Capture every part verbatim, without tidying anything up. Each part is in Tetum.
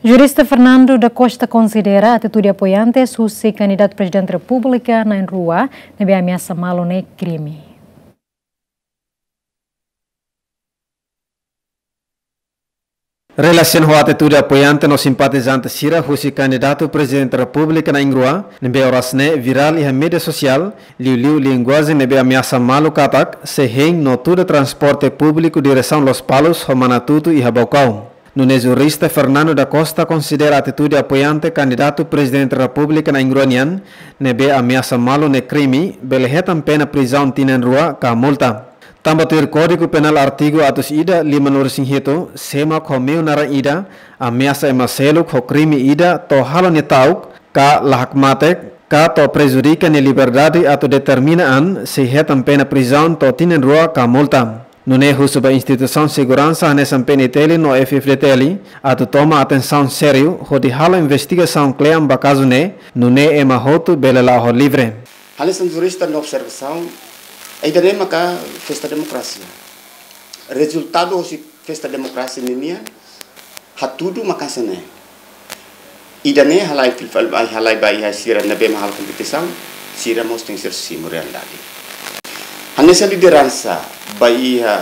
Jurista Fernando da Costa konsidera atitude apoiantes husi kandidatu Prezidente Repúblika na'in rua ne'ebé ameasa malu ne'e krime. Relasiona ho atitude apoiante no simpatizante sira husi kandidatu Prezidente Repúblika na'in rua, ne'ebé oras ne'e virál iha média sosiál, liuliu linguajen ne'ebé ameasa malu katak sei hein no tuda transporte públiku diresaun Lospalos ho Manatutu iha Baucau. Nune'e jurista Fernando da Costa konsidera atitude apoiante kandidatu Prezidente Repúblika na'in rua nian, ne'ebé ameasa malu ne'e krime, bele hetan pena prizaun tinan rua ka multa. Tanba tuir Kódigu Penál artigu atus ida limanulu-resin-hitu, sé mak ho meiu naran ida ameasa ema seluk ho krime ida to'o halo nia ta'uk, ka la hakmatek, ka to'o prejudika nia liberdade atu determina an, sei hetan pena prizaun to'o tinan rua ka multa. Nune'e husu ba instituisaun seguransa hanesan P N T L no F F D T L atu toma atensaun sériu hodi halo investigasaun kle'an ba kazu ne'e, nune'e ema hotu bele la'o ho livre. Hanesan jurista nia observasaun, ida-ne'e maka festa demokrasia. Rezultadu husi festa demokrasia ninian, hatudu maka hanesan ne'e. Ida-ne'e halai fil-, fil-, ai halai ba iha sira ne'ebé mak halo kompetisaun, sira mós tenke ser simu realidade. Hanesan lideransa ba iha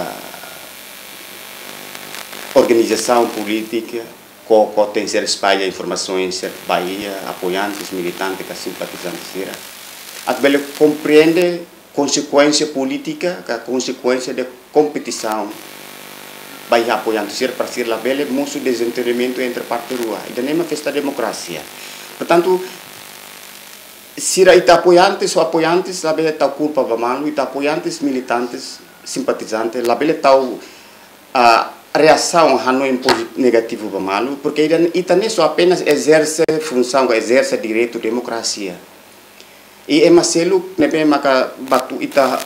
organizasaun polítika, koko tenke ser espalla informasaun sira ba iha apoiantes, militante, ka simpatizante sira. Atu bele komprende konsekuénsia polítika, ka konsekuénsia de kompetisaun ba iha apoiante sira, para sira labele mosu dezentendimentu entre parte rua. Ida-ne'e mak festa demokrasia. Portantu, sira ita apoiantes, ou apoiantes labele tau kulpa ba malu, ita apoiantes, militantes, simpatizante, labele tau, ah, reasaun hanoin pozi-, negativu ba malu, porque ita, ita ne'e só apenas ezerse funsaun, ezerse direitu demokrasia. I ema seluk ne'ebé maka batu ita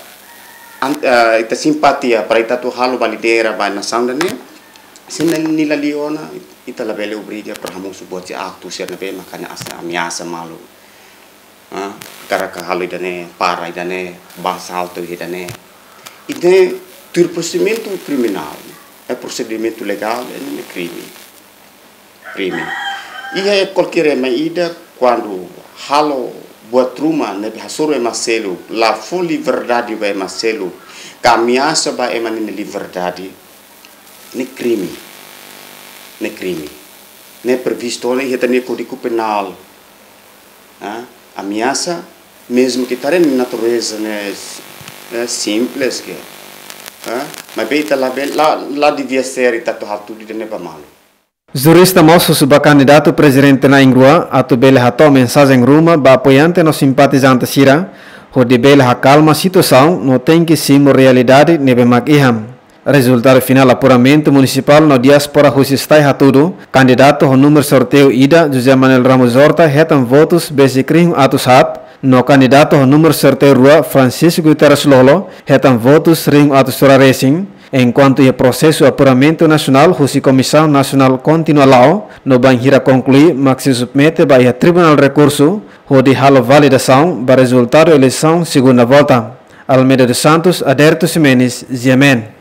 an-, ah, ita simpatia para ita atu halo ba lidera ba nasaun ida-ne'e, se nia la liu ona, ita labele obriga para hamosu buat sira, aktu sira ne'ebé maka hanesan ameasa malu. Ah, karik halo ida-ne'e, para ida-ne'e, ba asaltu ida-ne'e. Ida-ne'e tuir prosedimentu kriminál, eh, prosedimentu legál, ida-ne'e krime. Krime. Iha kualkér ema ida, kuandu halo buat ruma ne'ebé hasoru ema seluk, la fó liberdade ba ema seluk, ka ameasa ba ema nia liberdade, ne'e krime. Ne'e krime. Ne'e previstu ona iha ita-nia Kódigu Penál. Ah, ameasa, mezmu ke ita haree nia natureza ne'e, eh, simples ke. Ah, maibé ita labele, la, la devia ser ita atu hatudu ida-ne'e ba malu. Jurista mós husu ba kandidatu Prezidente na'in rua atu bele hato'o mensajen ruma ba apoiante no simpatizante sira, hodi bele hakalma situasaun no tenke simu realidade ne'ebé mak iha. Rezultadu finál apuramentu munisipál no diáspora husi Stai hatudu, kandidatu ho númeru sorteiu ida, José Manuel Ramos Horta, hetan votus besik rihun atus haat, no kandidatu ho númeru sorteiu rua, Francisco Guterres Lolo, hetan votus rihun atus tolu resin, enkuantu iha prosesu apuramentu nasionál husi Komisaun Nasionál kontinua la'o, no bainhira konklui mak sei submete ba iha Tribunál Rekursu, hodi halo validasaun ba rezultadu eleisaun segunda volta. Almeida dos Santos, Aderto Ximenes, G M N.